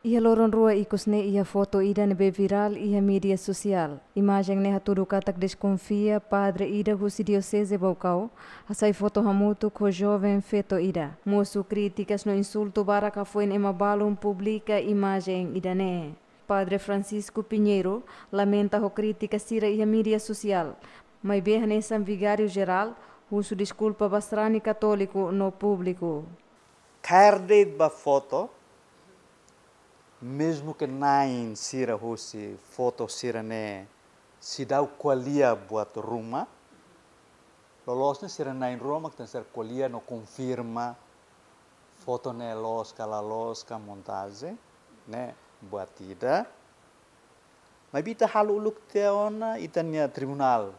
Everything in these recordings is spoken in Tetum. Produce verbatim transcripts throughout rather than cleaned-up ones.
Iha loron rua ikus ne'e iha foto ida ne'ebé virál iha mídia sosiál. Imajen ne'e hatudu katak deskonfia padre ida husi dioseze Baucau hasai foto hamutuk ho joven feto ida. Mosu krítikas no insultu barak hafoin ema balun publika imajen ida-ne'e. Padre Francisco Pinheiro lamenta ho krítika sira iha mídia sosiál, maibé hanesan vigáriu jerál husu deskulpa ba sarani katóliku no públiku. Kaer de'it ba foto, mezmu ke na'in sira husi foto sira-ne'e seidauk ko'alia buat ruma, loloos ne'e sira na'in rua mak tenke ser ko'alia no konfirma foto ne'e loos ka la loos ka montajen, ne'e buat ida. Maibé ita halo uluk tiha ona ita-nia tribunál.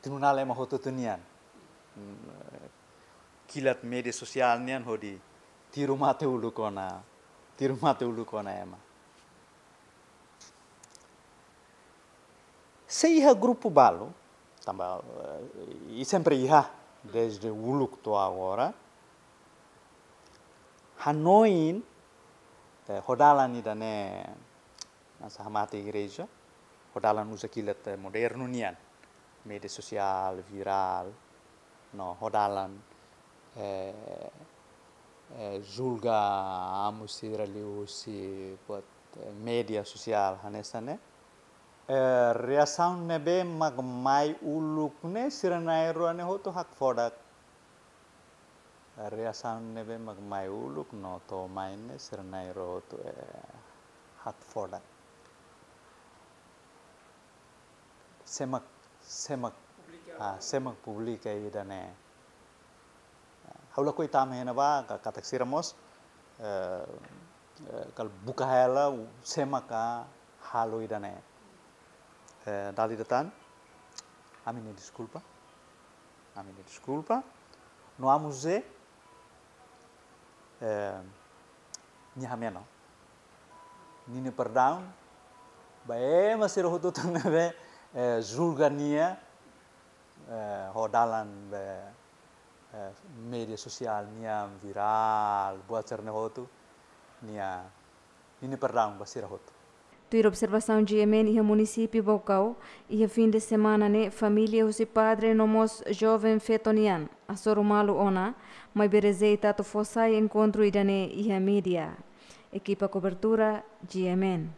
Tribunál ema hotu-hotu nian. Mm, kilat mídia sosiál nian hodi tiru mate uluk ona, tiru mate uluk ona ema. Se iha grupu balu, tanba, eh, i sempre iha, dezde uluk to'o agora, hanoin, eh, ho dalan ida-ne'e, hanesan hamate igreja, ho dalan uza kilat, eh, modernu nian, mídia sosiál, virál, no ho dalan, eh, eh, julga amu sira liuhusi buat, eh, mídia sosiál hanesan ne'e. Eh, reasaun ne'ebé mak mai uluk ne'e sira na'in rua ne'e hotu hakfodak. Reasaun ne'ebé mak mai uluk no to'o mai ne'e sira na'in rua hotu, eh, hakfodak. Sé mak, sé mak, ah, sé mak publika ida-ne'e. Ha'u lakohi tama iha ne'ebá, ka-, katak sira mós, eh, eh, kala buka hela, u-, sé maka halo ida-ne'e. Eh, dala ida tan, ami-nia deskulpa. Ami-nia deskulpa. No amu Zé, eh, nia hameno. Ninia perdaun ba ema sira hotu-hotu ne'ebé, eh, julga nia, eh, ho dalan be, eh, mídia sosiál nian virál, buat sira-ne'e hotu, nia, ninia perdaun ba sira hotu. Tuir observasaun G M N iha munisípiu Baucau, iha fin de semana ne'e família husi padre no mós joven feto nian hasoru malu ona, maibé rejeita atu fó sai enkontru ida-ne'e iha mídia. Ekipa kobertura, G M N.